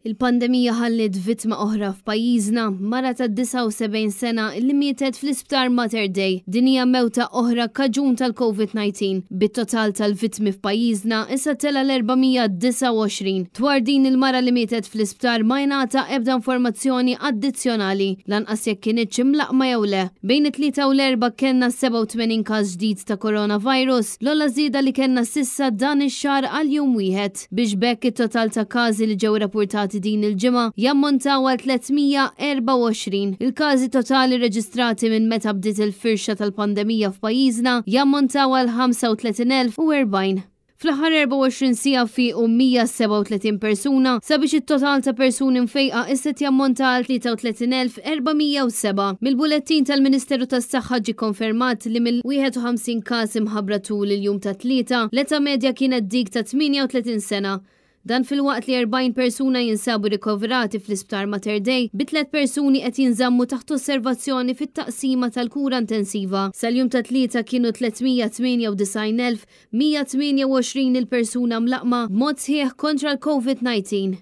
Il-pandemija ħalliet vittma oħra f'pajjiżna, mara ta' 79 sena li mietet fl-Isptar Mater Dei. Din hija mewta oħra kaġun tal-Covid-19, bit-total tal-vittmi f'pajjiżna issa tela' l-429. Dwar din il-mara li mietet fl-isptar ma ingħata ebda informazzjoni addizzjonali, lanqas jekk kinitx imlaqqma jew le. Bejn it-Tlieta u l-Erbgħa kellna 87 każ ġdid ta' coronavirus, l-ogħla żieda li kellna s'issa dan ix-xahar għal jum wieħed. Biex b'hekk it-total ta' każi li ġew rapurtati din il-ġimgħa jammontaw għal 324. Il-każi totali rreġistrati minn meta bdiet il-firxa tal-pandemija f'pajjiżna jammontaw għal 35,040. Fl-aħħar 24 siegħa fiequ 137 persuna sabiex it-total ta' persuni mfejqa issa qed jammonta għal 33,407. Mill-bulettin tal-Ministeru tas-Saħħa ġie konfermat li mill-51 każ imħabbra tul il-jum tat-Tlieta, l-età medja kienet dik ta' 38 sena. Dan filwaqt li 40 persuna jinsabu rikoverati fl-Isptar Mater Dei, bi tlett persuni qed jinżammu taħt osservazzjoni fit-taqsima tal-kura intensiva. Sal-jum tat-Tlieta kienu 398,128 il-persuna mlaqqma b'mod sħiħ kontra l-Covid-19.